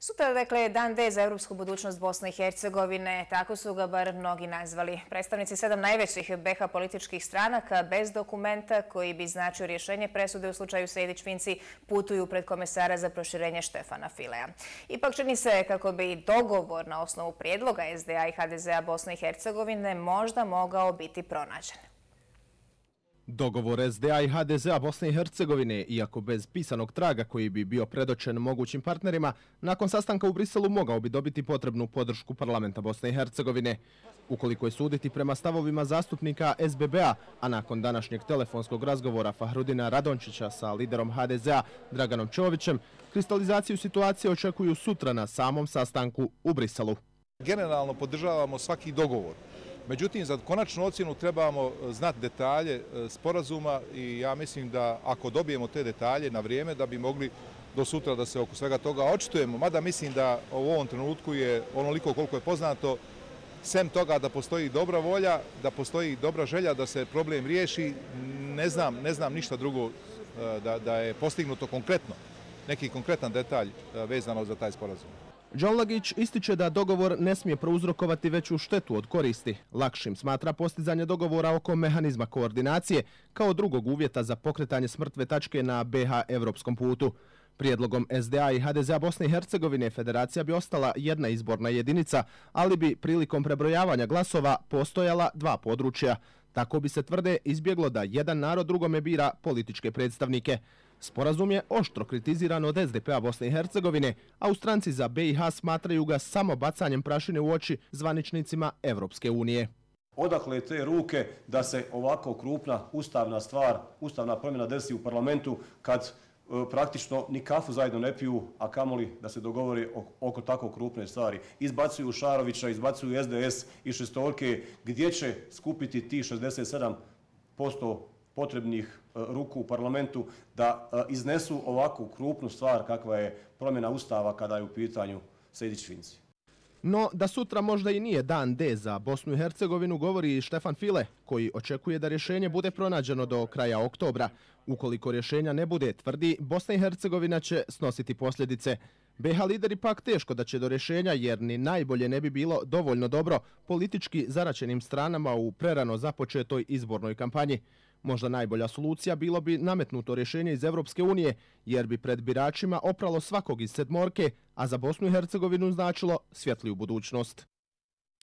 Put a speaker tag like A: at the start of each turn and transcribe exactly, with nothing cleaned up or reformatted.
A: Sutra, dakle, dan D za europsku budućnost Bosne i Hercegovine, tako su ga bar mnogi nazvali. Predstavnici sedam najvećih B iH političkih stranaka bez dokumenta koji bi značio rješenje presude u slučaju Sejdić-Finci putuju pred komesara za proširenje Štefana Filea. Ipak čini se kako bi dogovor na osnovu prijedloga S D A i H D Z A Bosne i Hercegovine možda mogao biti pronađen.
B: Dogovor S D A i H D Z A Bosne i Hercegovine, iako bez pisanog traga koji bi bio predočen mogućim partnerima, nakon sastanka u Briselu mogao bi dobiti potrebnu podršku parlamenta Bosne i Hercegovine. Ukoliko je suditi prema stavovima zastupnika S B B A, a nakon današnjeg telefonskog razgovora Fahrudina Radončića sa liderom H D Z A Draganom Čovićem, kristalizaciju situacije očekuju sutra na samom sastanku u Briselu.
C: Generalno podržavamo svaki dogovor. Međutim, za konačnu ocjenu trebamo znati detalje sporazuma i ja mislim da ako dobijemo te detalje na vrijeme da bi mogli do sutra da se oko svega toga očitujemo. Mada mislim da u ovom trenutku je onoliko koliko je poznato, sem toga da postoji dobra volja, da postoji dobra želja da se problem riješi, ne znam, ne znam ništa drugo da, da je postignuto konkretno, neki konkretan detalj vezano za taj sporazum.
B: Đonlagić ističe da dogovor ne smije prouzrokovati veću štetu od koristi. Lakšim smatra postizanje dogovora oko mehanizma koordinacije kao drugog uvjeta za pokretanje s mrtve tačke na B iH evropskom putu. Prijedlogom S D A i H D Z A Bosne i Hercegovine federacija bi ostala jedna izborna jedinica, ali bi prilikom prebrojavanja glasova postojala dva područja. Tako bi se, tvrde, izbjeglo da jedan narod drugome bira političke predstavnike. Sporazum je oštro kritiziran od S D P a Bosne i Hercegovine, a u stranci za B iH smatraju ga samo bacanjem prašine u oči zvaničnicima Evropske unije.
D: Odakle te ruke da se ovako krupna ustavna stvar, ustavna promjena desi u parlamentu kad e, praktično ni kafu zajedno ne piju, a kamoli da se dogovori oko tako krupne stvari. Izbacuju Šarovića, izbacuju S D S i šestorke, gdje će skupiti ti šezdeset sedam posto potrebnih ruku u parlamentu da iznesu ovakvu krupnu stvar kakva je promjena ustava kada je u pitanju Sejdić-Finci.
B: No, da sutra možda i nije dan D za Bosnu i Hercegovinu, govori Štefan File, koji očekuje da rješenje bude pronađeno do kraja oktobra. Ukoliko rješenja ne bude, tvrdi, Bosna i Hercegovina će snositi posljedice. B iH lideri pak teško da će do rješenja, jer ni najbolje ne bi bilo dovoljno dobro politički zaračenim stranama u prerano započetoj izbornoj kampanji. Možda najbolja solucija bilo bi nametnuto rješenje iz Evropske unije, jer bi pred biračima opralo svakog iz sedmorke, a za Bosnu i Hercegovinu značilo svjetliju budućnost.